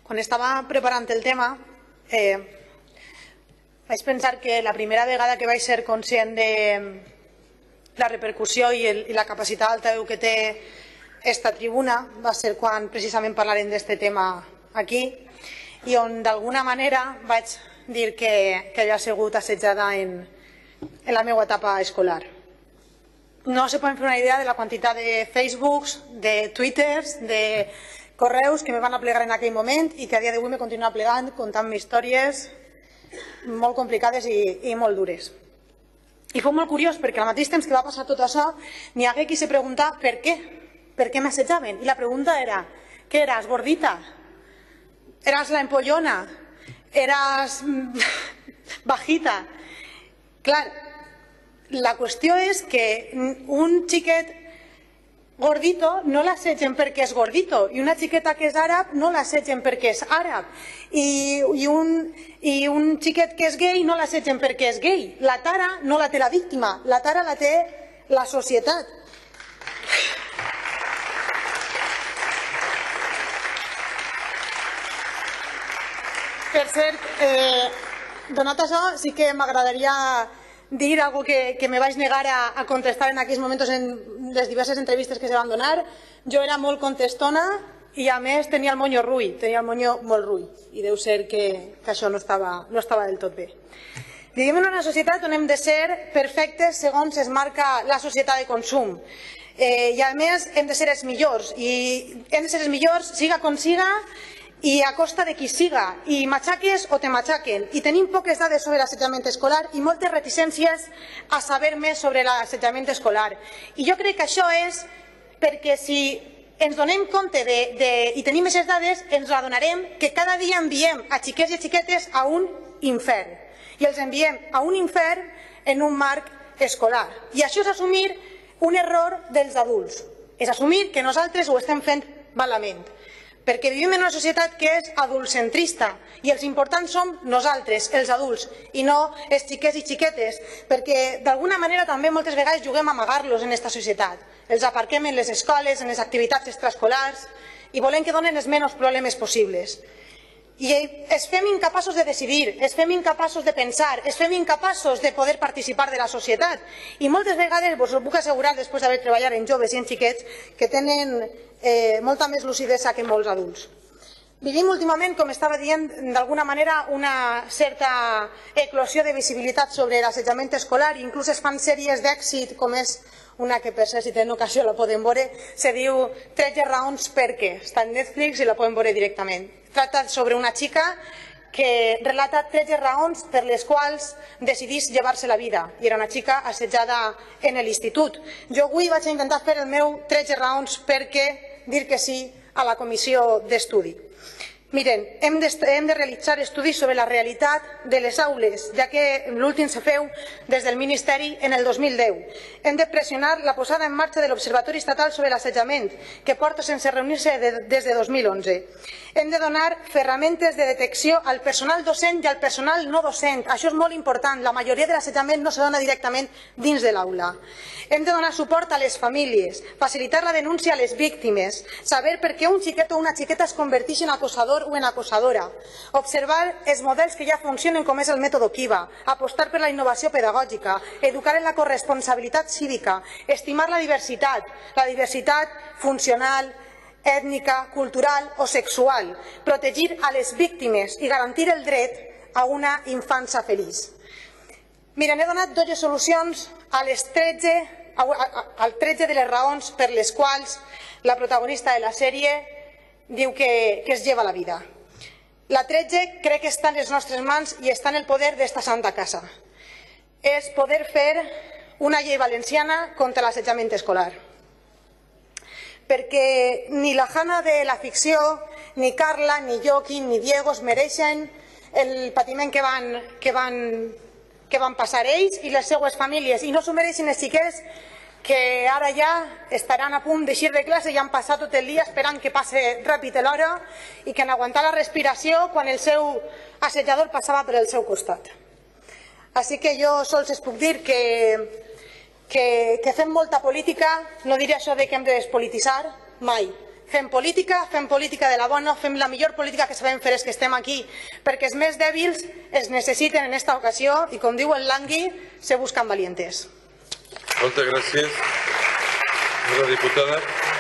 Quan estava preparant el tema, vaig pensar que la primera vegada que vaig ser conscient de la repercussió i la capacitat d'altaveu que té esta tribuna va ser quan precisament parlarem d'aquest tema aquí i on d'alguna manera vaig dir que havia sigut assetjada en la meva etapa escolar. No se poden fer una idea de la quantitat de Facebooks, de Twitters, de correus que me van aplegar en aquell moment i que a dia d'avui me continua aplegant contant-me històries molt complicades i molt dures. I fou molt curiós perquè al mateix temps que va passar tot això n'hi hagué qui se pregunta per què m'assetjaven. I la pregunta era, què eres, gordita? Eres la empollona? Eres bajita? Clar, la qüestió és que un xiquet gordito no l'assetgen perquè és gordito i una xiqueta que és àrab no l'assetgen perquè és àrab i un xiquet que és gay no l'assetgen perquè és gay. La tara no la té la víctima, la tara la té la societat. Per cert, donat això, sí que m'agradaria dir alguna cosa que me vaig negar a contestar en aquells moments en les diverses entrevistes que se van donar. Jo era molt contestona i a més tenia el monyo rui, tenia el monyo molt rui i deu ser que això no estava del tot bé. Vivim en una societat on hem de ser perfectes segons es marca la societat de consum i a més hem de ser els millors i hem de ser els millors siga com siga i a costa de qui siga, i matxaques o te matxaquen. I tenim poques dades sobre l'assetjament escolar i moltes reticències a saber més sobre l'assetjament escolar. I jo crec que això és perquè si ens donem compte i tenim aquestes dades, ens adonarem que cada dia enviem a xiquets i a xiquetes a un infern. I els enviem a un infern en un marc escolar. I això és assumir un error dels adults. És assumir que nosaltres ho estem fent malament. Perquè vivim en una societat que és adultcentrista i els importants som nosaltres, els adults, i no els xiquets i xiquetes, perquè d'alguna manera també moltes vegades juguem a amagar-los en aquesta societat. Els aparquem en les escoles, en les activitats extraescolars i volem que donen els menys problemes possibles. I es fem incapaços de decidir, es fem incapaços de pensar, es fem incapaços de poder participar de la societat. I moltes vegades, us ho puc assegurar després d'haver treballat en joves i en xiquets, que tenen molta més lucidesa que molts adults. Vivim últimament, com estava dient, d'alguna manera una certa eclosió de visibilitat sobre l'assetjament escolar, inclús es fan sèries d'èxit, com és una que per ser si tenen ocasió la poden veure, se diu 13 raons per què, està en Netflix i la poden veure directament. Trata sobre una xica que relata 13 raons per les quals decidís llevar-se la vida i era una xica assetjada en l'institut. Jo avui vaig intentar fer el meu 13 raons perquè dir que sí a la comissió d'estudi. Miren, hem de realitzar estudis sobre la realitat de les aules, ja que l'últim se feu des del Ministeri en el 2010. Hem de pressionar la posada en marxa de l'Observatori Estatal sobre l'Assetjament, que porta sense reunir-se des de 2011. Hem de donar ferramentes de detecció al personal docent i al personal no docent. Això és molt important. La majoria de l'assetjament no se dona directament dins de l'aula. Hem de donar suport a les famílies, facilitar la denúncia a les víctimes, saber per què un xiquet o una xiqueta es converteix en acosador o en acosadora, observar els models que ja funcionen com és el mètode Kiva, apostar per la innovació pedagògica, educar en la corresponsabilitat cívica, estimar la diversitat funcional, ètnica, cultural o sexual, protegir a les víctimes i garantir el dret a una infància feliç. Miren, he donat 12 solucions al 13 de les raons per les quals la protagonista de la sèrie diu que es lleva la vida. La 13 crec que està en les nostres mans i està en el poder d'esta santa casa. És poder fer una llei valenciana contra l'assetjament escolar. Perquè ni la Hanna de la ficció, ni Carla, ni Joaquín, ni Diego es mereixen el patiment que van passar ells i les seues famílies. I no s'ho mereixen els xiquets que ara ja estaran a punt d'eixir de classe i han passat tot el dia esperant que passe ràpid l'hora i que han aguantat la respiració quan el seu assetjador passava per el seu costat. Així que jo sols es puc dir que fem molta política, no diré això de que hem de despolititzar, mai. fem política de la bona, fem la millor política que sabem fer els que estem aquí, perquè els més dèbils es necessiten en esta ocasió i, com diu el Langui, se buscan valientes. Moltes gràcies, senyora diputada.